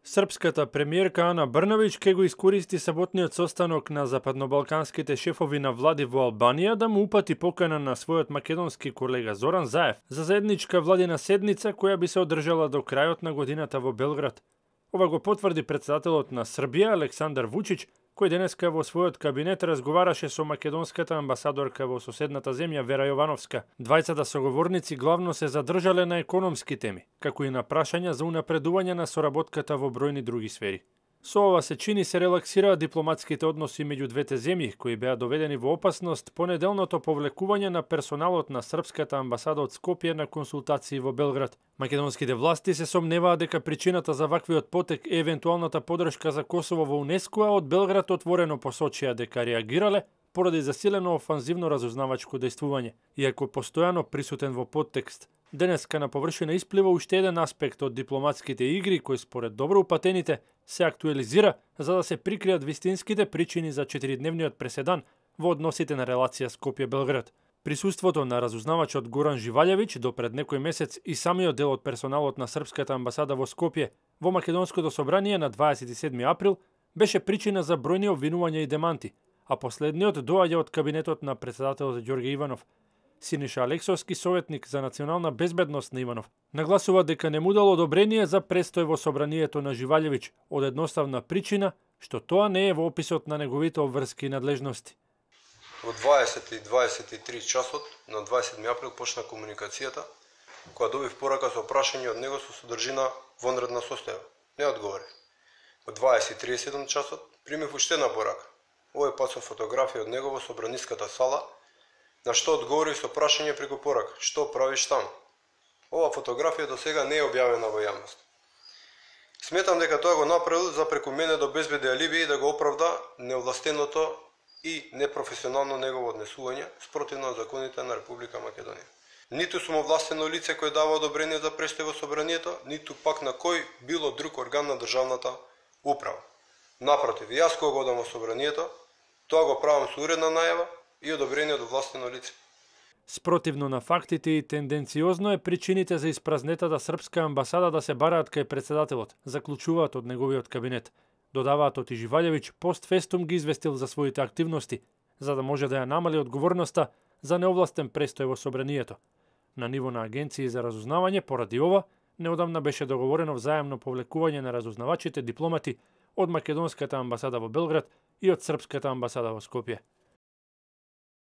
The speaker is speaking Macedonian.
Српската премиерка Ана Брнабич ке го искористи саботниот состанок на западнобалканските шефови на влади во Албанија да му упати покана на својот македонски колега Зоран Заев за заедничка владина седница која би се одржала до крајот на годината во Белград. Ова го потврди председателот на Србија Александар Вучич, кој денеска во својот кабинет разговараше со македонската амбасадорка во соседната земја Вера Јовановска. Двајцата соговорници главно се задржале на економски теми, како и на прашања за унапредување на соработката во бројни други сфери. Со ова се чини се релаксираа дипломатските односи меѓу двете земји, кои беа доведени во опасност по неделното повлекување на персоналот на српската амбасада од Скопје на консултации во Белград. Македонските власти се сомневаат дека причината за ваквиот потек е евентуалната подршка за Косово во УНЕСКО, а од Белград отворено посочија дека реагирале поради засилено офанзивно разузнавачко дејствување. Иако постојано присутен во подтекст, денеска на површина исплива уште еден аспект од дипломатските игри кој според добро упатените се актуализира за да се прикријат вистинските причини за 4-дневниот преседан во односите на релација Скопје-Белград. Присуството на разузнавачот Горан Живалјевиќ до пред некој месец и самиот дел од персоналот на српската амбасада во Скопје во Македонското собрание на 27 април беше причина за бројни обвинувања и деманти, а последниот доаѓа од кабинетот на председателот Ѓорѓе Иванов. Синиша Алексовски, советник за национална безбедност на Иванов, нагласува дека не му дал одобрение за престој во собранието на Живалјевиќ од едноставна причина што тоа не е во описот на неговите обврски и надлежности. Во 20:23 часот на 27 април почна комуникацијата, која добив порака со прашање од него со содржина вонредна состојба. Не одговори. Во 20:37 часот примив уште една порака. Овој пат со фотографија од него во собраниската сала, на што одговори со прашање преку порака: што правиш таму? Ова фотографија до сега не е објавена во јавност. Сметам дека тоа го направил за преку мене да обезбеди алиби и да го оправда неовластеното и непрофесионално негово однесување спротивно на законите на Република Македонија. Ниту сум овластено лице кој дава одобрение за престој во собранието, ниту пак на кој било друг орган на државната управа. Напротив, јас кога одам во собранието, тоа го правам со уредна најава и одобрение од овластено лице. Спротивно на фактите и тенденциозно е причините за испразнетата српска амбасада да се бараат кај председателот, заклучуваат од неговиот кабинет. Додаваат од Живалјевиќ постфестум ги известил за своите активности, за да може да ја намали одговорноста за неовластен престој во собранието. На ниво на агенции за разузнавање, поради ова, неодамна беше договорено взаемно повлекување на разузнавачите дипломати од македонската амбасада во Белград и од српската амбасада во Скопје.